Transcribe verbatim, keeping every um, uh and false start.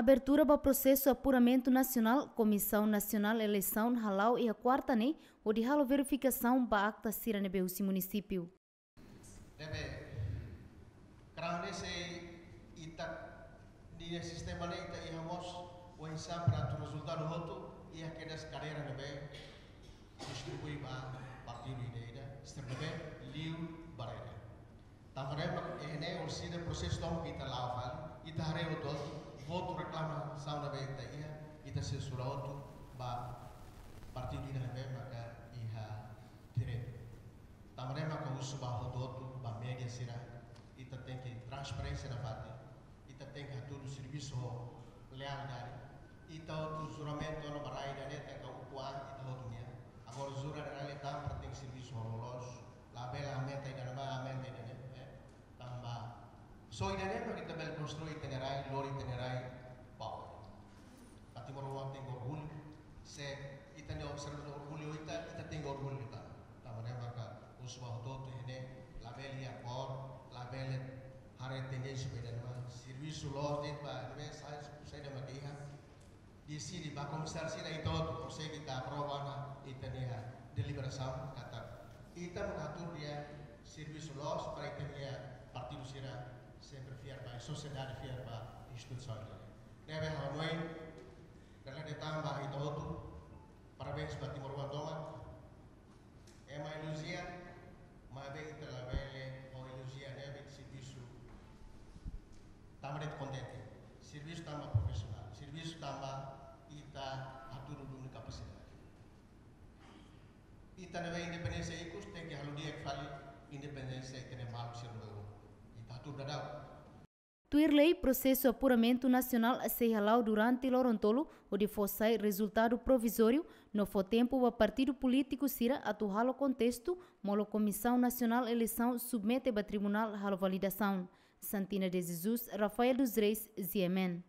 Abertura ba prosesu apuramentu nasionál, Komisaun Nasionál Eleisaun hala'o iha kuarta ne'e, hodi halo verifikasaun ba akta sira ne'ebé husi munisípiu. Ne'ebé, karau ne'e se ita, nia sistema ne'e ita iha mós, oinsá para atu rezultadu hotu, iha kedas kadeira ne'ebé distribui ba partidu ida-ida, sira ne'ebé liu barreira. Tanba ne'e mak, eh, ne'e orsida prosesu tomak ita la'o fali, ita haree hotu-hotu, votu reklamasaun ne'ebé ita iha, ita sensura hotu ba partidu ida ne'ebé maka iha direitu. Tanba ne'e maka husu ba hotu-hotu, ba média sira, ita tenke transparénsia nafatin, ita tenke hatudu servisu ho lealdade, ita hotu juramentu ona ba rai ida-ne'e, tenke ukun an ita hotu nian. Agora jura rai ida-ne'e tanba tenke servisu ho loloos, labele aumenta ida-ne'ebá, aumenta ida-ne'e, eh. Tanba só ida-ne'e mak ita bele konstrui ita-nia rai, lori ita-nia rai ba oin. Ba timoroan tenke orgullu. Se ita-nia observadór orgullu ita, ita tenke orgullu ita. Tanba ne'e maka husu ba hotu-hotu iha ne'e, labele iha kór, labele haree tendénsia ba ida-ne'ebá. Servisu loos de'it ba ne'ebé sai, saida maka iha. Deside ba komisáriu sira ita hotu, konsege ita aprova ona ita-nia deliberasaun katak ita mak hatudu de'it servisu loos para ita-nia partidu sira sempre fiar ba, sosiedade fiar ba instituisaun ida-ne'e. Ne'ebé ha'u hanoin, dala ida tan ba ita hotu, parabéns ba timoroan tomak. Ema elojia, maibé ita labele ho elojia ne'ebé servisu tanba de'it kontente. Servisu tanba profisionál. Servisu tanba ita hatudu duni kapasidade. Ita ne'ebé independénsia ikus tenke halo di'ak fali independénsia ita-nia maluk sira ne'ebé ita hatudu daudaun. Tuir lei, prosesu apuramentu nasionál sei hala'o durante loron tolu, hodi fó sai rezultadu provizóriu, no fó tempu ba partidu polítiku sira atu halo kontestu, molok Komisaun Nasionál Eleisaun submete ba tribunál halo validasaun. Santina de Jesus, Rafael dos Reis, G M N.